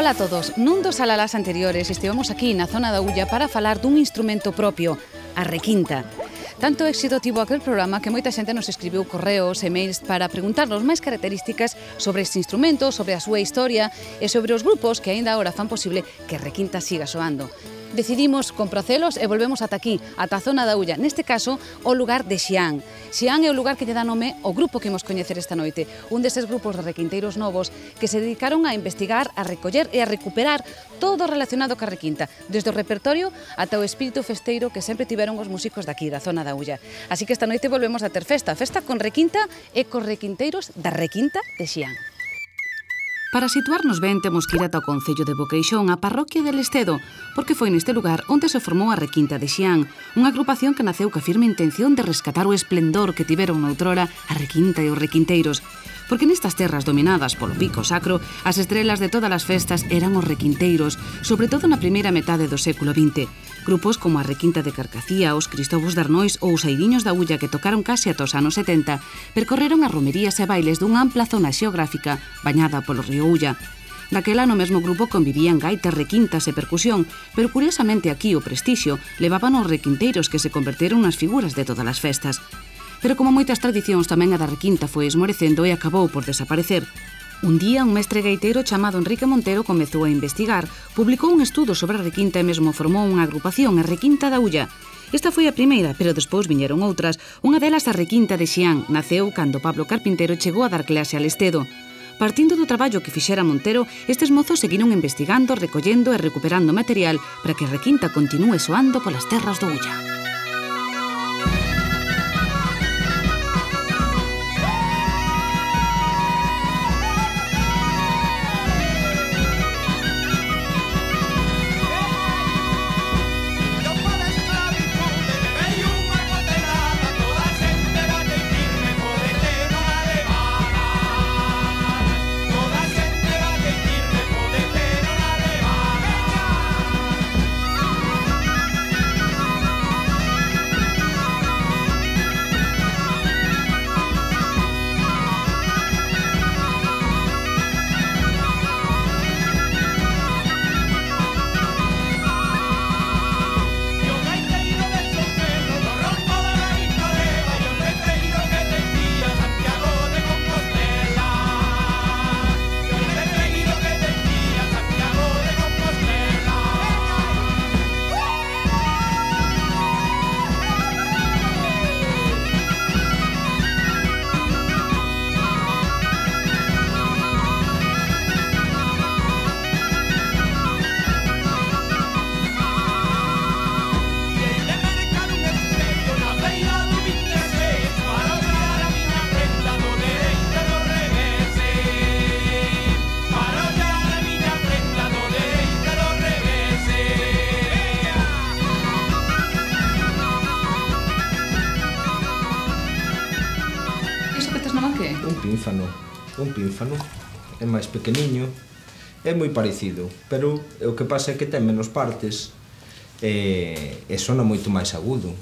Ola a todos. Nun dos alalás anteriores estivemos aquí na zona da Ulla para falar dun instrumento propio, a requinta. Tanto éxito tivo aquel programa que moita xente nos escribiu correos e mails para preguntarnos máis características sobre este instrumento, sobre a súa historia e sobre os grupos que aínda agora fan posible que a requinta siga soando. Decidimos compracelos e volvemos ata aquí, ata a zona da Ulla, neste caso, o lugar de Xián. Xián é o lugar que lle dá nome ao grupo que imos coñecer esta noite, un deses grupos de requinteiros novos que se dedicaron a investigar, a recoller e a recuperar todo relacionado ca requinta, desde o repertorio ata o espírito festeiro que sempre tiveron os músicos daqui, da zona da Ulla. Así que esta noite volvemos a ter festa con requinta e cos requinteiros da requinta de Xián. Para situarnos ben, temos que ir ata o concello de Boqueixón, a parroquia de Lestedo, porque foi neste lugar onde se formou a Requinta de Xián, unha agrupación que naceu ca firme intención de rescatar o esplendor que tiveron noutrora a requinta e os requinteiros. Porque nestas terras dominadas polo pico sacro, as estrelas de todas as festas eran os requinteiros, sobre todo na primeira metade do século XX. Grupos como a Requinta de Carcacía, os Cristobos de Arnois ou os Airiños da Ulla, que tocaron case ata os anos 70, percorreron as romerías e bailes dunha ampla zona xeográfica bañada polo río Ulla. Daquela no mesmo grupo convivían gaitas, requintas e percusión, pero curiosamente aquí o prestixio levaban os requinteiros que se converteron nas figuras de todas as festas. Pero como moitas tradicións, tamén a da requinta foi esmorecendo e acabou por desaparecer. Un día, un mestre gaiteiro chamado Enrique Montero comezou a investigar, publicou un estudo sobre a requinta e mesmo formou unha agrupación, a Requinta da Ulla. Esta foi a primeira, pero despois viñeron outras. Unha delas, a Requinta de Xián, naceu cando Pablo Carpintero chegou a dar clase a Lestedo. Partindo do traballo que fixera Montero, estes mozos seguiron investigando, recollendo e recuperando material para que a requinta continúe soando polas terras do Ulla. Un pínfano, é máis pequeniño, é moi parecido, pero o que pasa é que ten menos partes e sona moito máis agudo,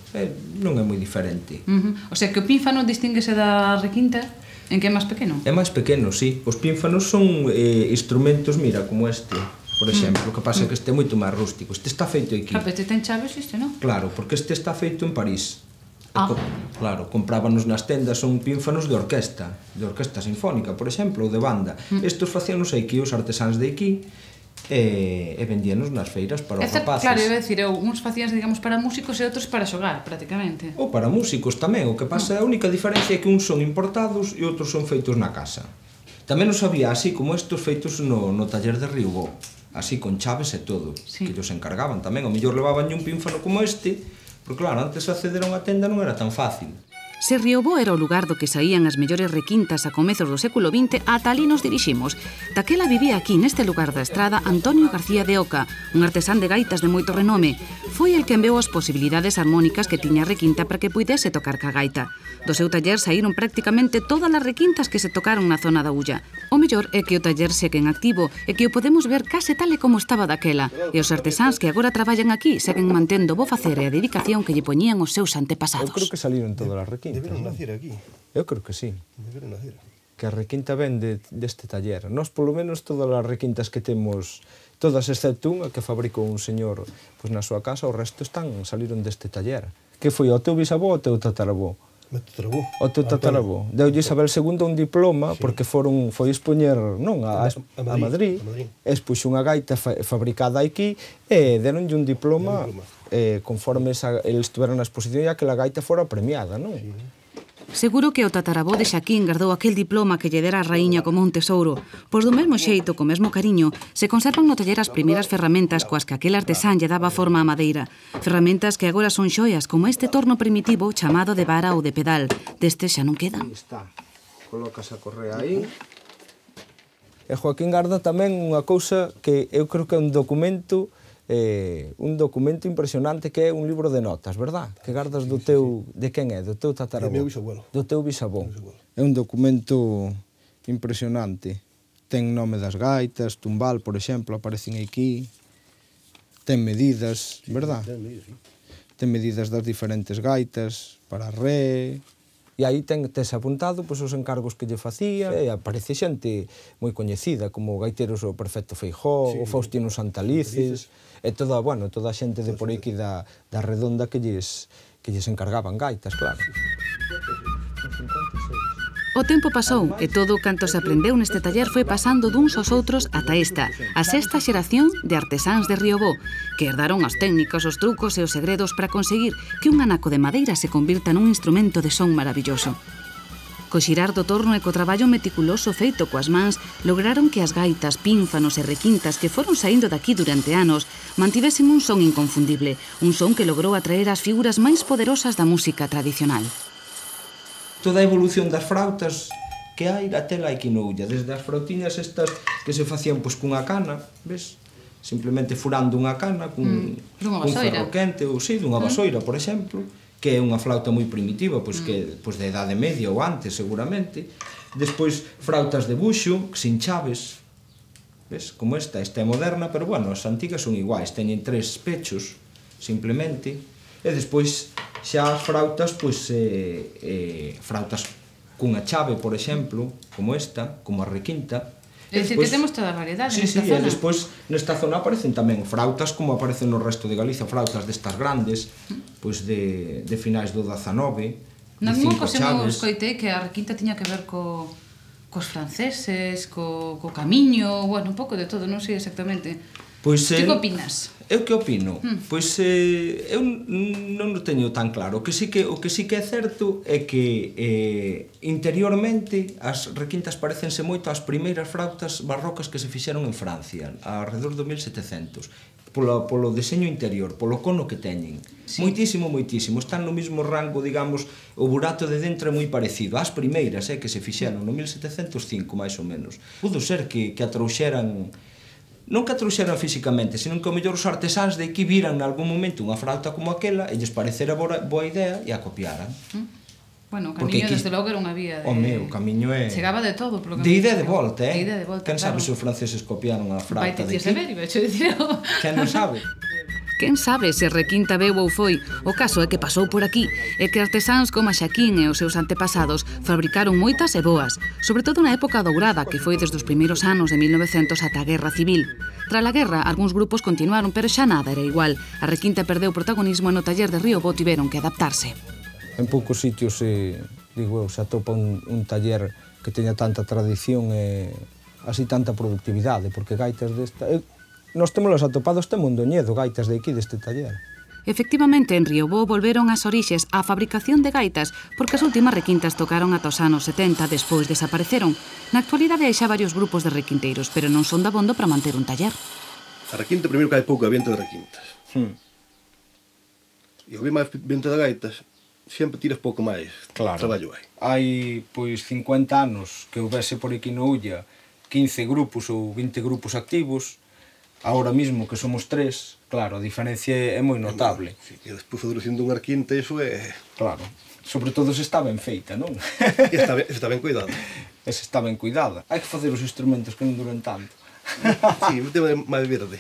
non é moi diferente. O sea que o pínfano distínguese da requinta en que é máis pequeno? É máis pequeno, sí. Os pínfanos son instrumentos, mira, como este, por exemplo, o que pasa é que este é moito máis rústico, este está feito aquí. Claro, este ten chaves, este non? Claro, porque este está feito en París. Claro, comprábanos nas tendas, son pínfanos de orquesta sinfónica, por exemplo, ou de banda. Estos facíanos aquí os artesáns de aquí e vendíanos nas feiras para os rapaces. Claro, iba a decir, uns facíans, digamos, para músicos e outros para xogar, prácticamente. Ou para músicos tamén, o que pasa, a única diferencia é que uns son importados e outros son feitos na casa. Tamén os había así como estos feitos no taller de Riubó, así con chaves e todo, que os encargaban tamén. O mellor levaban un pínfano como este, porque claro, antes acceder a unha tenda non era tan fácil. Se Riobó era o lugar do que saían as mellores requintas a comezos do século XX, ata ali nos diriximos. Daquela vivía aquí, neste lugar da estrada, Antonio García de Oca, un artesán de gaitas de moito renome. Foi el que enveou as posibilidades armónicas que tiña a requinta para que puidese tocar ca gaita. Do seu taller saíron prácticamente todas as requintas que se tocaron na zona da Ulla. O mellor é que o taller segue en activo e que o podemos ver case tal e como estaba daquela. E os artesáns que agora traballan aquí seguen mantendo o bo facer e a dedicación que lle poñían os seus antepasados. Eu creo que saliron todas as requintas. Deberon nacer aquí. Eu creo que sí. Deberon nacer. a requinta ven deste taller. Nós, polo menos, todas as requintas que temos, todas excepto unha que fabricou un señor na súa casa, o resto saliron deste taller. Que foi o teu bisavó ou o teu tataravó? O teu tataravó. Deulle Isabel II un diploma porque foi expoñer a Madrid, expuxo unha gaita fabricada aquí e deronlle un diploma conforme eles estiveran na exposición e aquela gaita fora premiada, non? Seguro que o tataravó de Xaquín guardou aquel diploma que lle dera a raíña como un tesouro, pois do mesmo xeito, co mesmo cariño, se conservan no taller as primeiras ferramentas coas que aquel artesán lle daba forma á madeira. Ferramentas que agora son xoias, como este torno primitivo chamado de vara ou de pedal. Deste xa non queda. Aí está. Colocas a correa aí. E Joaquín garda tamén unha cousa que eu creo que é un documento impresionante, que é un libro de notas, verdad? Que gardas do teu... De quen é? Do teu tataravó? Do meu bisabuelo. Do teu bisavó. É un documento impresionante. Ten nome das gaitas, tumbal, por exemplo, aparecen aquí. Ten medidas, verdad? Ten medidas das diferentes gaitas, para ré... E aí tes apuntado os encargos que lle facía, e aparece xente moi coñecida, como gaiteros o Perfecto Feijó, o Faustino Santalices, e toda a xente de por aquí da redonda que lles encargaban gaitas, claro. O tempo pasou e todo canto se aprendeu neste taller foi pasando duns aos outros ata esta, a sexta xeración de artesáns de Riobó, que herdaron as técnicas, os trucos e os segredos para conseguir que un anaco de madeira se convirta nun instrumento de son maravilloso. Co xirar do torno e co traballo meticuloso feito coas mans, lograron que as gaitas, pínfanos e requintas que foron saindo daqui durante anos mantivesen un son inconfundible, un son que logrou atraer as figuras máis poderosas da música tradicional. Toda a evolución das frautas que hai, até lá aquí no Ulla, desde as frautiñas estas que se facían cunha cana, ves? Simplemente furando unha cana cun ferro quente, ou dunha vasoira, por exemplo, que é unha flauta moi primitiva, que de idade media ou antes, seguramente. Despois, frautas de buxo, sin chaves, ves? Como esta é moderna, pero, as antigas son iguais, teñen 3 pechos, simplemente. E despois, xa as frautas, frautas cunha chave, por exemplo, como esta, como a requinta. É dicir, que temos toda a variedade nesta zona. E despois, nesta zona aparecen tamén frautas, como aparecen no resto de Galicia, frautas destas grandes, de finais do 19, de 5 chaves. Escoitei que a requinta tiña que ver cos franceses, co camiño, un pouco de todo, non sei exactamente. Que opinas? Eu que opino? Pois eu non o teño tan claro. O que sí que é certo é que interiormente as requintas parecense moito ás primeiras frautas barrocas que se fixeron en Francia, alrededor do 1700, polo deseño interior, polo cono que teñen. Moitísimo, moitísimo. Están no mesmo rango, digamos, o burato de dentro é moi parecido ás primeiras que se fixeron no 1705, máis ou menos. Pudo ser que a trouxeran... Non que a trouxeran físicamente, senón que o mellor os artesáns de aquí viran nalgún momento unha frauta como aquela e lles parecera boa idea e a copiaran. Bueno, o camiño, desde logo, era unha vía de... O camiño é... Chegaba de todo polo camiño. De ida e de volta, De ida e de volta, Quen sabe se os franceses copiaron a frauta de aquí? Quen non sabe? Quen sabe se requinta veu ou foi? O caso é que pasou por aquí e que artesáns como a Xaquín e os seus antepasados fabricaron moitas e boas, sobre todo na época dourada, que foi desde os primeiros anos de 1900 ata a Guerra Civil. Tras a guerra, algúns grupos continuaron, pero xa nada era igual. A requinta perdeu protagonismo e no taller de Riobó tiveron que adaptarse. En poucos sitios, digo eu, se atopa un taller que teña tanta tradición e así tanta productividade, porque gaitas desta... Nós temos atopados este Mondoñedo, gaitas de aquí, deste taller. Efectivamente, en Riobó volveron as orixes á fabricación de gaitas porque as últimas requintas tocaron ata os anos 70, despois desapareceron. Na actualidade hai xa varios grupos de requinteiros, pero non son dabondo para manter un taller. A requinta, primeiro que hai pouca venta de requintas. E ao ver máis venta de gaitas, sempre tiras pouco máis traballo hai. Hai, 50 anos que houvese por aquí no Ulla 15 grupos ou 20 grupos activos. Ahora mismo que somos 3, claro, a diferencia é moi notable. E despois a duración dunha requinta, iso é... Claro, sobre todo se está ben feita, non? E está ben cuidada. E se está ben cuidada. Hai que facer os instrumentos que non duran tanto. Sí, o tema é máis verde.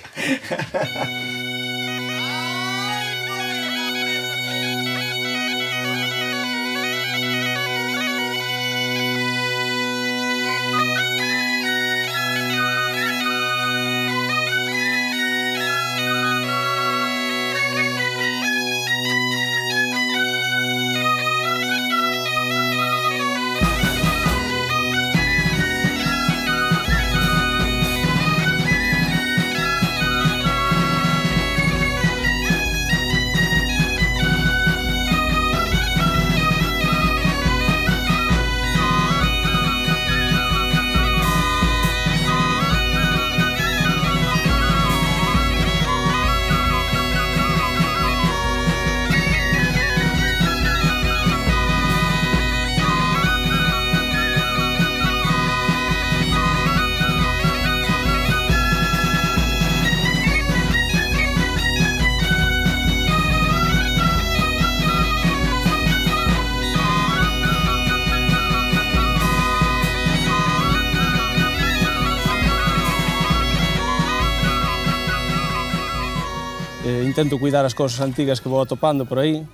Intento cuidar as cousas antigas que vou atopando por aí,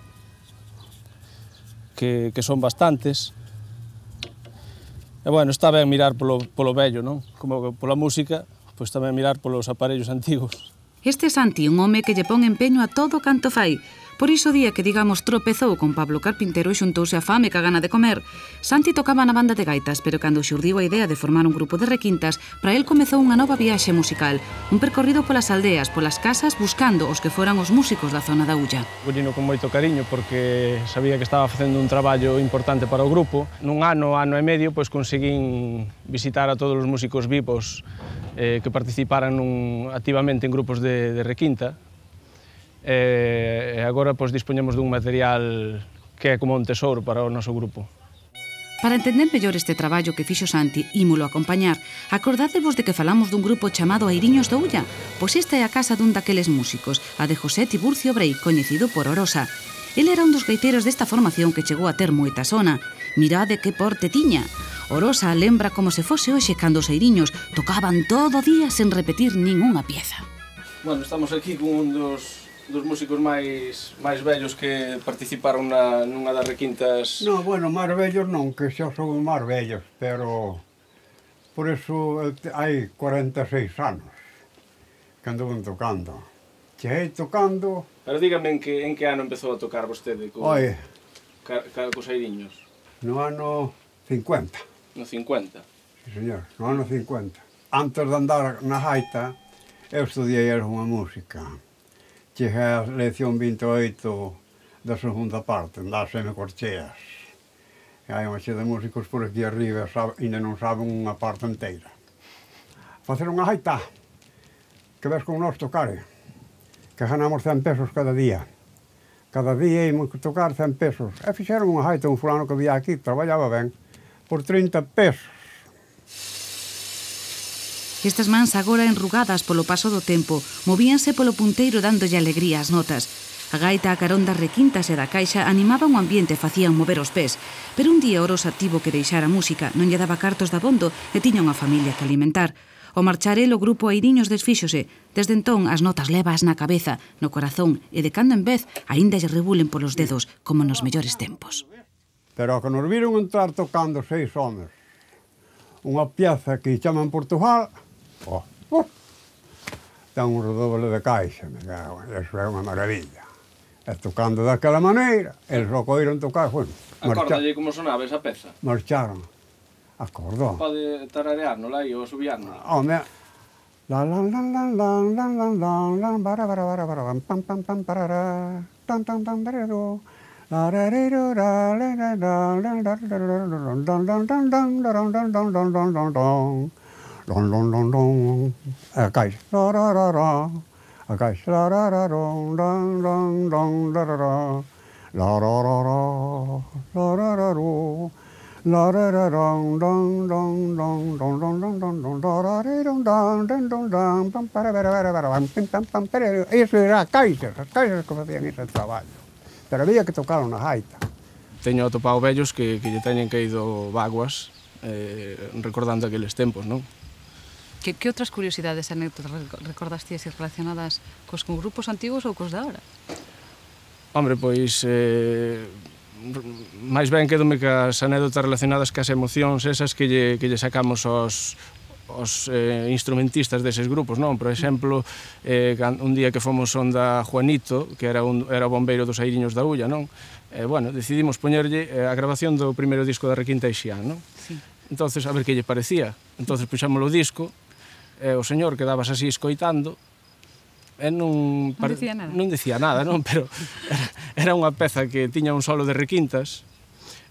que son bastantes. E, bueno, está ben mirar polo vello, non? Como pola música, pois tamén mirar polos aparellos antigos. Este é Santi, un home que lle pon empeño a todo canto fai. Por iso o día que, digamos, tropezou con Pablo Carpintero e xuntouse a fame ca gana de comer, Santi tocaba na banda de gaitas, pero cando xurdiu a idea de formar un grupo de requintas, para el comezou unha nova viaxe musical, un percorrido polas aldeas, polas casas, buscando os que foran os músicos da zona da Ulla. Collino con moito cariño porque sabía que estaba facendo un traballo importante para o grupo. Nun ano e medio, pois conseguín visitar a todos os músicos vivos que participaran activamente en grupos de requinta. E agora pois dispoñemos dun material que é como un tesouro para o noso grupo. Para entender mellor este traballo que fixo Santi, ímolo acompañar, acordádevos de que falamos dun grupo chamado Airiños da Ulla? Pois esta é a casa dun daqueles músicos, a de José Tiburcio Brei, coñecido por Orosa. El era un dos gaiteiros desta formación que chegou a ter moita sona. Mirade que porte tiña. Orosa lembra como se fose hoxe cando os airiños tocaban todo o día sen repetir ningunha pieza. Bueno, estamos aquí con un dos músicos máis vellos que participaron nunha das requintas. No, bueno, máis vellos non, que xa son máis vellos, pero por eso hai 46 anos que andaban tocando. Cheguei tocando... Pero dígame en que ano empezou a tocar vostede cos airiños? No ano 50. No 50? Sí, señor, no ano 50. Antes de andar na gaita, eu estudiei unha música. Cheguei a lección 28 da segunda parte, das semicorcheas. E hai unha xe de músicos por aquí arriba, ainda non saben unha parte inteira. Facer unha gaita, que ves con nós tocare, que ganamos 100 pesos cada día. Cada día íamos tocar 100 pesos. E fixeron unha gaita, un fulano que vía aquí, traballaba ben, por 30 pesos. Estas mans agora enrugadas polo paso do tempo movíanse polo punteiro dándolle alegría ás notas. A gaita a carón das requintas e da caixa animaban o ambiente e facían mover os pés. Pero un día Orosa tivo que deixar a música, non lle daba cartos de abondo e tiña unha familia que alimentar. Ao marchar el, o grupo Airiños desfíxose. Desde entón, as notas levas na cabeza, no corazón e de cando en vez, aínda lle rebulen polos dedos, como nos mellores tempos. Pero que nos viron entrar tocando 6 homes, unha pieza que chaman Portugal, ten un redoble de caixa, eso é unha maravilla. E tocando daquela maneira, eles só coiron tocar, bueno, Acórdalle como sonaba esa peza? Marcharon. Acordou. Pode tarareárnola aí ou subiárnola? Home, la la la la la la la la la bara bara bara bara pam pam pam parara tan tan tan darero la rarero la la la la la la don don don don a caixa la ra ra ra a caixa la ra ra don don don don la ra ra la ra ra ra la ra ra ro la ra ra don don don don don don don don don la ra don don don don don pam para para para pam pam pam para eso era as caixas que facían ese traballo, pero había que tocar unha gaita. Teño atopado vellos que lle teñen caído vaguas recordando aqueles tempos, non? Que outras curiosidades e anécdotas recordastías relacionadas cos grupos antigos ou cos de agora? Hombre, pois, máis ben quedome cas anécdotas relacionadas cas emocións esas que lle sacamos aos instrumentistas deses grupos, non? Por exemplo, un día que fomos onda Juanito, que era o bombeiro dos Airiños da Ulla, non? Bueno, decidimos poñerlle a grabación do primeiro disco da Requinta Ixián, non? Sí. Entonces, a ver que lle parecía. Entonces, puxámoslo o disco, e o señor quedabas así escoitando, e non dicía nada, non? Pero era unha peza que tiña un solo de requintas.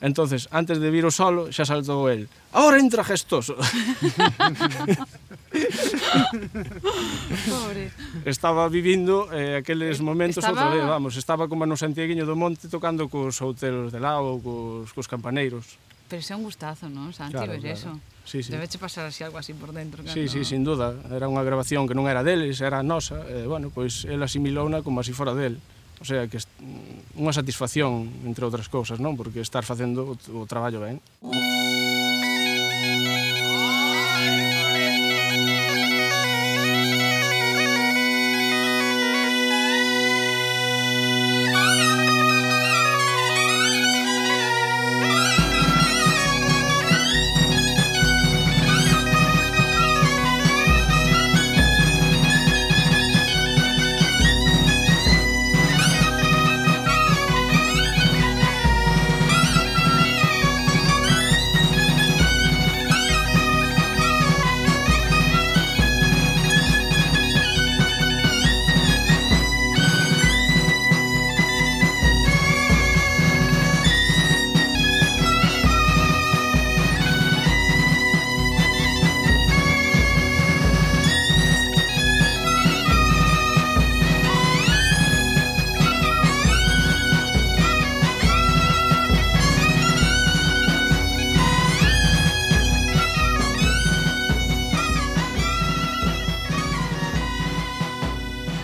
Entonces, antes de vir o solo, xa saltou el. Ahora entra Gestoso. Pobre. Estaba vivindo aqueles momentos outra vez, vamos. Estaba como no Santiaguiño do Monte tocando cos outelos de lao, cos campaneiros. Pero é un gustazo, non, Santi, ver eso? Sí, sí. Debeche pasar así algo así por dentro. Sí, sí, sin duda. Era unha grabación que non era deles, era nosa. Bueno, pois, el asimilouna como así fora del. O sea, que unha satisfacción, entre outras cousas, non? Porque estar facendo o traballo ben.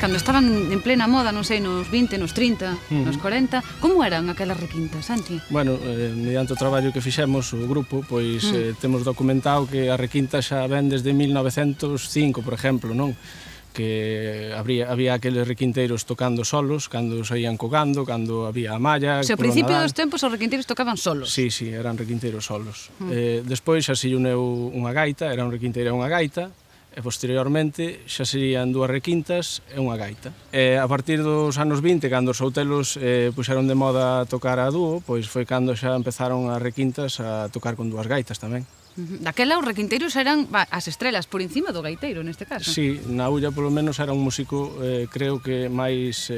cando estaban en plena moda, non sei, nos 20, nos 30, nos 40, como eran aquelas requintas, Santi? Bueno, mediante o traballo que fixemos, o grupo, pois temos documentado que a requinta xa ven desde 1905, por exemplo, non? Que había aqueles requinteiros tocando solos, cando saían cogando, cando había a malla... Se ao principio dos tempos os requinteiros tocaban solos. Sí, eran requinteiros solos. Despois xa se uneu unha gaita, era un requinteiro e unha gaita, e posteriormente xa serían dúas requintas e unha gaita. E a partir dos anos 20, cando os outelos puxeron de moda tocar a dúo, pois foi cando xa empezaron as requintas a tocar con dúas gaitas tamén. Daquela os requinteiros eran as estrelas por encima do gaiteiro, neste caso. Sí, na Ulla polo menos era un músico, creo que máis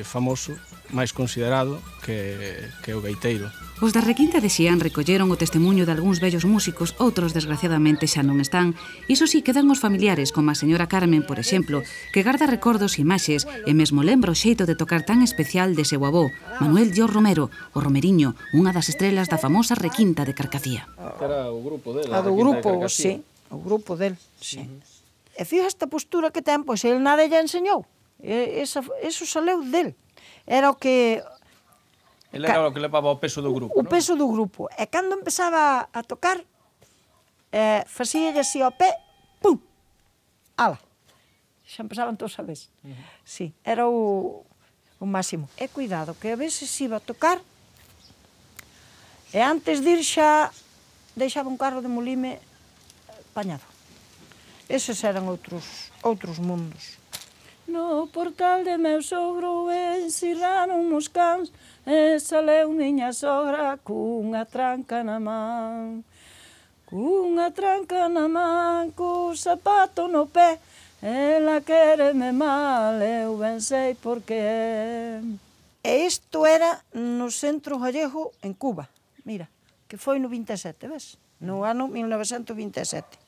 famoso, máis considerado que o gaiteiro. Os da requinta de Xián recolleron o testemunho de algúns vellos músicos, outros desgraciadamente xa non están. Iso sí, quedan os familiares, como a señora Carmen, por exemplo, que garda recordos e imaxes e mesmo lembra o xeito de tocar tan especial de seu avó, Manuel Dios Romero, o Romeriño, unha das estrelas da famosa requinta de Carcacía. Era o grupo del, a do grupo, sí, o grupo del, sí. E fíjate esta postura que ten, pois ele nada lle enseñou. Eso saleu del. Era o que... Ele era o que levaba o peso do grupo, non? O peso do grupo. E cando empezaba a tocar, facíalle así ao pé, pum, ala. Xa empezaban todos a vez. Sí, era o máximo. E cuidado, que a veces iba a tocar, e antes de ir xa deixaba un carro de molime pañado. Eses eran outros mundos. No portal de meu sogro encerraron os cans e saleu miña sogra cunha tranca na man. Cunha tranca na man, co zapato no pé, ela quéreme mal, eu ben sei por qué. E isto era no Centro Gallego en Cuba, mira, que foi no 27, ves? No ano 1927.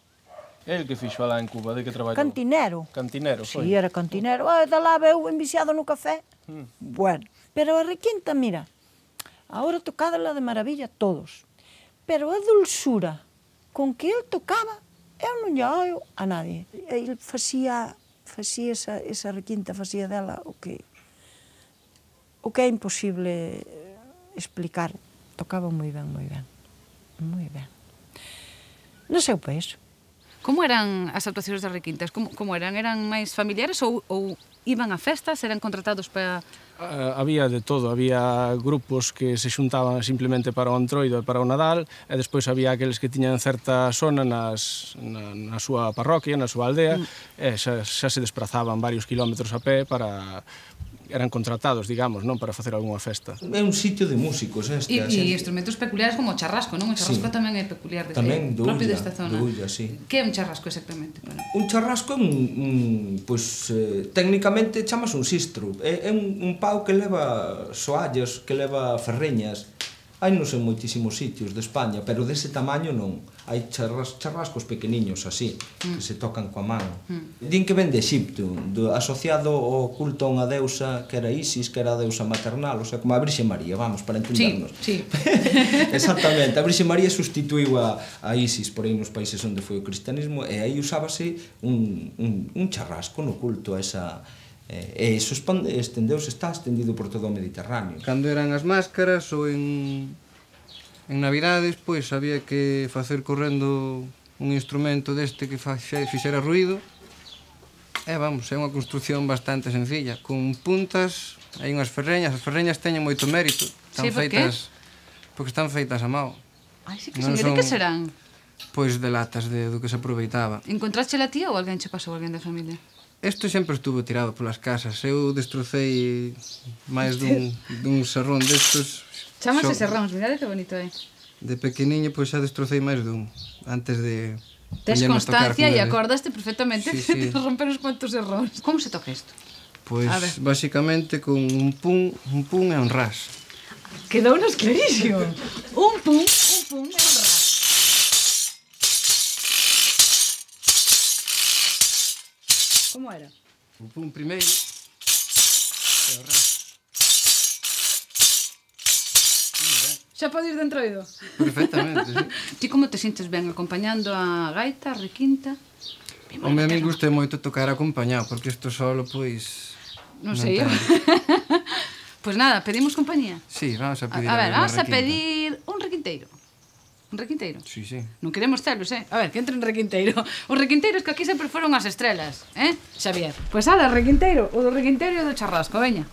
El que fixo alá en Cuba, de que traballou? Cantinero. Cantinero, foi? Sí, era cantinero. Da lá veu enviciado no café. Bueno, pero a requinta, mira, ahora tocádela de maravilla todos. Pero a dulzura con que ele tocaba, eu non lle oio a nadie. Ele facía esa requinta, facía dela o que é imposible explicar. Tocaba moi ben, moi ben. Moi ben. No seu país. Como eran as actuacións das requintas? Como eran? Eran máis familiares ou iban a festas? Eran contratados para... Había de todo, había grupos que se xuntaban simplemente para o Entroido e para o Nadal, e despois había aqueles que tiñan certa zona na súa parroquia, na súa aldea, e xa se desprazaban varios kilómetros a pé para... eran contratados, digamos, non para facer algunha festa. É un sitio de músicos, este. E instrumentos peculiares como o charrasco, non? O charrasco tamén é peculiar, propio desta zona. Ulla, sí. Que é un charrasco exactamente? Un charrasco é pois, técnicamente chamas un sistro. É un pau que leva soallas, que leva ferreñas. Hai non en moitísimos sitios de España, pero dese tamaño non. Hai charrascos pequeniños así, que se tocan coa man. Din que ven de Exipto, asociado ao culto a unha deusa que era Isis, que era a deusa maternal, o sea, como a Virxe María, vamos, para entendernos. Sí. Exactamente, a Virxe María sustituiu a Isis por aí nos países onde foi o cristianismo, e aí usábase un charrasco no culto a esa... E iso estendeuse, está estendido por todo o Mediterráneo. Cando eran as máscaras ou en Navidades, pois había que facer correndo un instrumento deste que fixera ruído. E vamos, é unha construcción bastante sencilla, con puntas, hai unhas ferreñas, as ferreñas teñen moito mérito. Sí, por qué? Porque están feitas a mao. Ai, sí que son, de que serán? Pois de latas do que se aproveitaba. Encontraste a tía ou alguén che pasou, alguén da familia? Isto sempre estuvo tirado polas casas. Eu destrocei máis dun serrón destos. Chámase serróns, mirade que bonito é. De pequeniño, pois xa destrocei máis dun, antes de... Tes constancia e acordaste perfectamente de romper uns cuantos serróns. Como se toca isto? Pois, basicamente, con un pum e un ras. Quedounos clarísimo. Un pum e un ras. Como era? O pum primeiro e o ras. Xa pode ir de Entroido? Perfectamente, sí. Ti como te sintes ben acompañando a gaita, a requinta? Home, a mí gusta moito tocar acompañado, porque isto solo, pois... Non sei eu. Pois nada, pedimos compañía. Sí, vamos a pedir A ver, vamos a requinta. pedir un requinteiro. Un requinteiro? Sí, sí. Non queremos celos, A ver, que entre un requinteiro. Os requinteiros que aquí sempre foron as estrelas, Xavier? Pois ala, requinteiro. O do requinteiro e do charrasco, veña.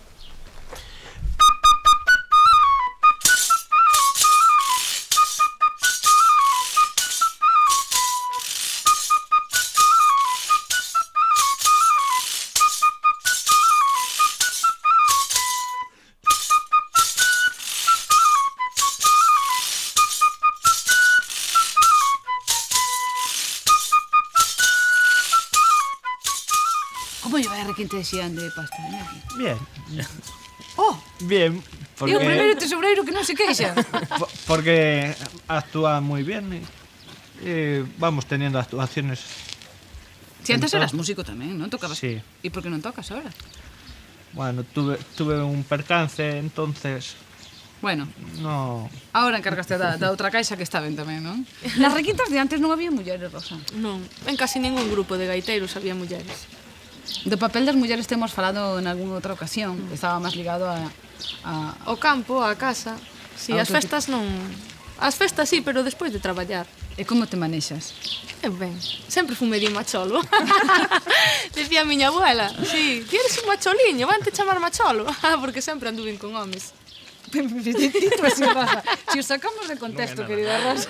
Como lle vai a requinte de xián de pasta? Bien. Oh! Bien. E o primeiro tesoureiro que non se queixa. Porque actúa moi bien e vamos teniendo actuaciones. Si antes eras músico tamén, non? Tocabas? Sí. E por que non tocas ahora? Bueno, tuve un percance, entonces Bueno, no. ahora encargaste da outra caixa que está ben tamén, non? Nas requintas de antes non había mulleres, Rosa. Non, en casi ningún grupo de gaiteiros había mulleres. Do papel das mulleres temos falado en algunha outra ocasión, que estaba máis ligado a O campo, a casa. Si, A as outro festas non... As festas sí, pero despois de traballar. E como te manexas? Ben, sempre fui medio macholo. Decía a miña abuela, sí, ti eres un macholiño, van te chamar macholo. Porque sempre anduven con homes. Dito así, Rosa. Si os sacamos de contexto, querida Rosa.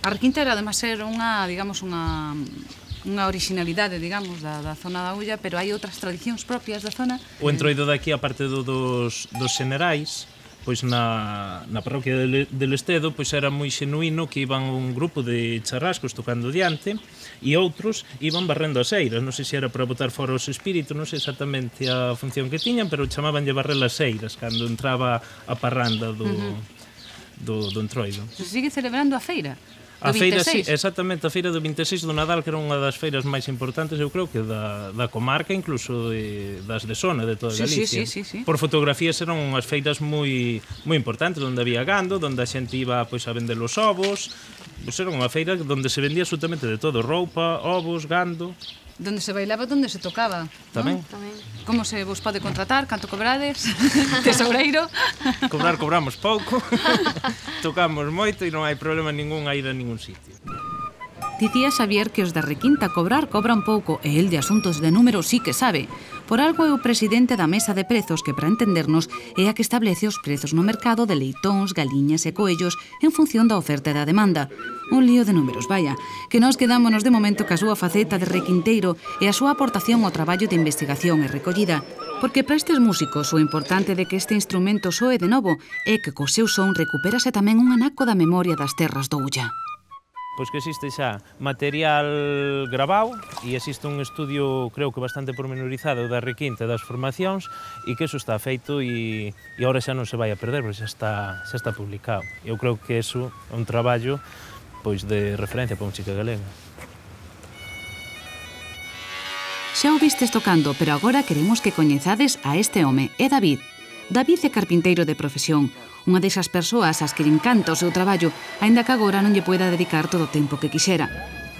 A requinta era, además, ser unha, digamos, unha orixinalidade, digamos, da zona da Ulla, pero hai outras tradicións propias da zona. O entroido daqui, aparte dos xenerais, pois na parroquia del Estedo, pois era moi xenuíno que iban un grupo de charrascos tocando diante e outros iban barrendo as eiras. Non sei se era para botar fora os espíritus, non sei exactamente a función que tiñan, pero chamabanlle barrer as eiras cando entraba a parranda do entroido. Se sigue celebrando a feira. A Do feira, sí, 26. exactamente, a feira do 26 do Nadal, que era unha das feiras máis importantes, eu creo que da comarca, incluso das de zona, de toda Galicia. Sí. Por fotografías eran unhas feiras moi importantes, onde había gando, onde a xente iba pois, a vender os ovos, pois era unha feira onde se vendía absolutamente de todo, roupa, ovos, gando. Donde se bailaba, donde se tocaba. Tamén. Tamén. Como se vos pode contratar? Canto cobrades? Tesoureiro? Cobramos pouco, tocamos moito e non hai problema ningún a ir a ningún sitio. Dicía Xavier que os da requinta cobran pouco e el de asuntos de números sí que sabe. Por algo é o presidente da mesa de prezos que, para entendernos, é a que establece os prezos no mercado de leitóns, galiñas e coellos en función da oferta e da demanda. Un lío de números, vaya, que nós quedámonos de momento ca súa faceta de requinteiro e a súa aportación ao traballo de investigación e recollida. Porque para estes músicos o importante de que este instrumento soe de novo é que co seu son recupérase tamén un anaco da memoria das terras do Ulla. Pois que existe xa material grabado e existe un estudio, creo que bastante pormenorizado da requinta das formacións e que eso está feito e agora xa non se vai a perder, porque xa está publicado. Eu creo que eso é un traballo pois de referencia para a música galega. Xa o vistes tocando, pero agora queremos que coñezades a este home, é David. David é carpinteiro de profesión, unha desas persoas ás que lle encanta o seu traballo, aínda que agora non lle poida dedicar todo o tempo que quixera.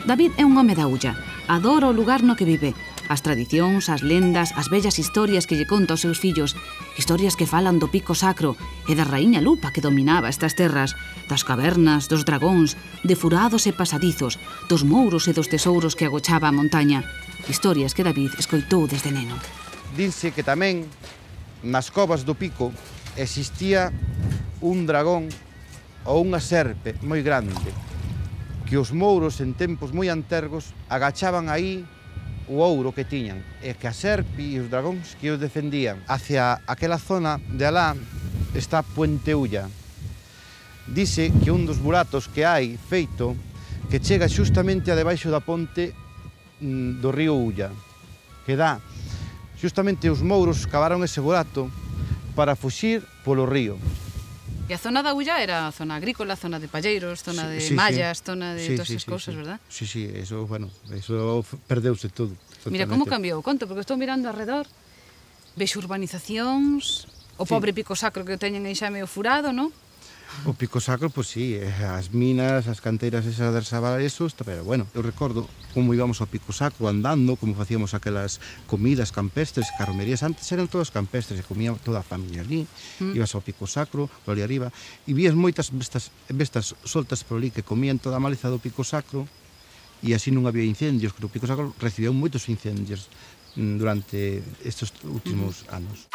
David é un home da Ulla, adora o lugar no que vive, as tradicións, as lendas, as bellas historias que lle conta aos seus fillos, historias que falan do pico sacro e da raíña Lupa que dominaba estas terras, das cavernas, dos dragóns, de furados e pasadizos, dos mouros e dos tesouros que agochaba a montaña, historias que David escoitou desde neno. Dinse que tamén nas covas do pico existía un dragón ou unha serpe moi grande que os mouros en tempos moi antergos agachaban aí o ouro que tiñan e que a serpe e os dragóns que os defendían. Hacia aquela zona de alá está Puente Ulla. Dice que un dos buratos que hai feito que chega xustamente a debaixo da ponte do río Ulla, que dá xustamente os mouros cavaron ese burato para fuxir polo río. E a zona da Ulla era a zona agrícola, zona de palleiros, zona de mallas, zona de todas esas cousas, verdad? Sí, eso, bueno, eso perdeuse todo. Mira como cambiou, conto, porque estou mirando alrededor, vexo urbanizacións, o pobre pico sacro que teñen aí xa medio furado, non? O pico sacro, pois sí, as minas, as canteiras esas de Sabaresos, pero bueno, eu recordo como íbamos ao pico sacro andando, como facíamos aquelas comidas campestres, carromerías, antes eran todas campestres, e comía toda a familia ali, ibas ao pico sacro, por ali arriba, e vías moitas bestas soltas por ali que comían toda a maleza do pico sacro, e así non había incendios, que o pico sacro recibiu moitos incendios durante estes últimos anos.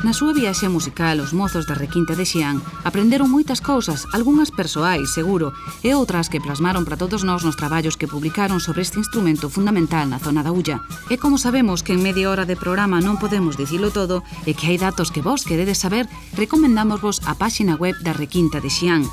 Na súa viaxe musical, os mozos da Requinta de Xián aprenderon moitas cousas, algunhas persoais, seguro, e outras que plasmaron para todos nós nos traballos que publicaron sobre este instrumento fundamental na zona da Ulla. E como sabemos que en media hora de programa non podemos dicilo todo e que hai datos que vos queredes saber, recomendámosvos a páxina web da Requinta de Xián.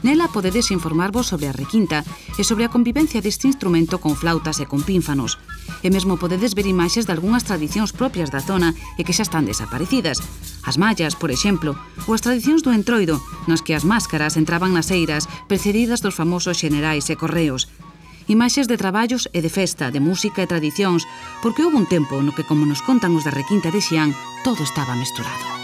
Nela podedes informarvos sobre a requinta e sobre a convivencia deste instrumento con flautas e con pínfanos. E mesmo podedes ver imaxes de algunhas tradicións propias da zona e que xa están desaparecidas. As mallas, por exemplo, ou as tradicións do entroido, nas que as máscaras entraban nas eiras precedidas dos famosos xenerais e correos. Imaxes de traballos e de festa, de música e tradicións, porque houve un tempo no que, como nos contan os da Requinta de Xián, todo estaba mesturado.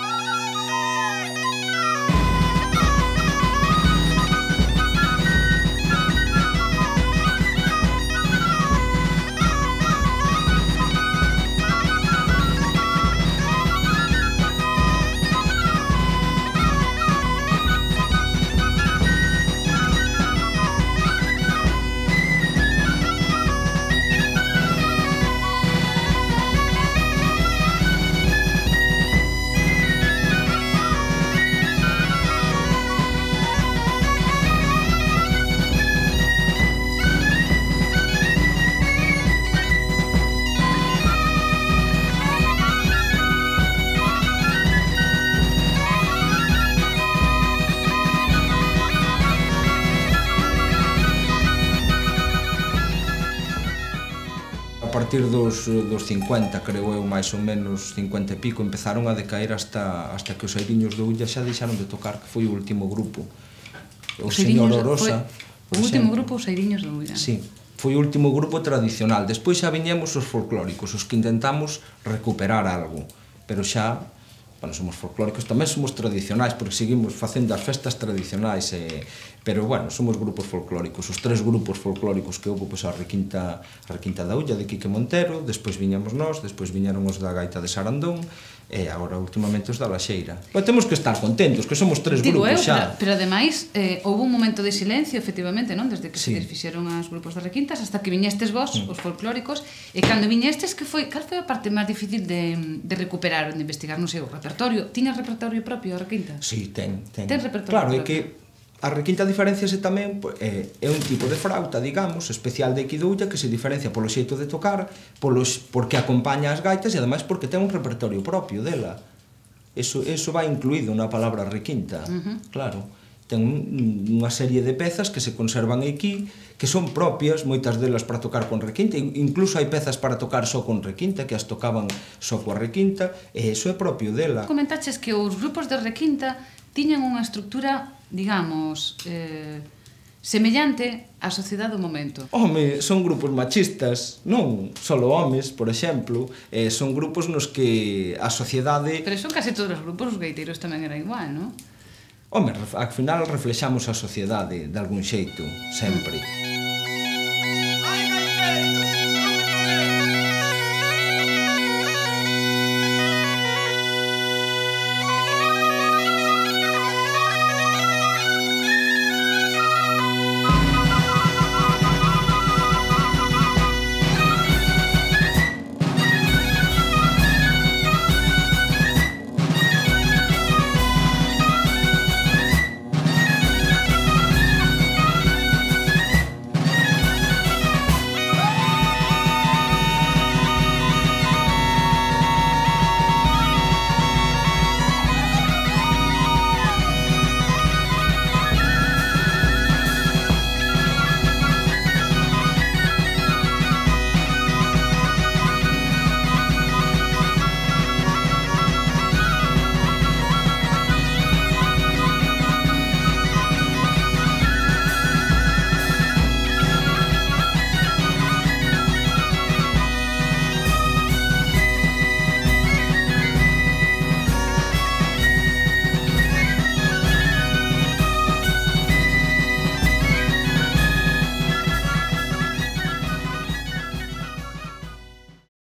A partir dos 50, creo eu, máis ou menos 50 e pico, empezaron a decaer hasta que os Airiños de Ulla xa deixaron de tocar, que foi o último grupo. O señor Orosa... O último grupo, os Airiños de Ulla. Sí, foi o último grupo tradicional. Despois xa viñemos os folclóricos, os que intentamos recuperar algo, pero xa... Bueno, somos folclóricos, tamén somos tradicionais, porque seguimos facendo as festas tradicionais, pero, bueno, somos grupos folclóricos. Os tres grupos folclóricos que houve, pois, a Requinta da Ulla, de Quique Montero, despois viñamos nós, despois viñeron os da Gaita de Sarandón, e agora, últimamente, os da Laxeira. Pero temos que estar contentos, que somos tres grupos xa. Pero, ademais, houve un momento de silencio, efectivamente, non? Desde que se desfixeron os grupos de Requintas, hasta que viñestes vos, os folclóricos, e cando viñestes, cal foi a parte máis difícil de recuperar, de investigar, non sei, o repertorio? Tiña repertorio propio a Requinta? Sí, ten. Ten repertorio propio. Claro, é que a Requinta diferenciase tamén, é un tipo de flauta, digamos, especial de aquí de Ulla, que se diferencia polo xeito de tocar, porque acompaña as gaitas e ademais porque ten un repertorio propio dela. Eso vai incluído na palabra Requinta, claro. Ten unha serie de pezas que se conservan aquí, que son propias, moitas delas para tocar con Requinta, incluso hai pezas para tocar só con Requinta, que as tocaban só coa Requinta, e eso é propio dela. Comentaches que os grupos de Requinta tiñan unha estructura, digamos, semellante á sociedade do momento. Home, son grupos machistas, non solo homes, por exemplo, son grupos nos que a sociedade... Pero son case todos os grupos, os gaiteiros tamén era igual, non? Home, ao final reflexamos a sociedade de algún xeito, sempre.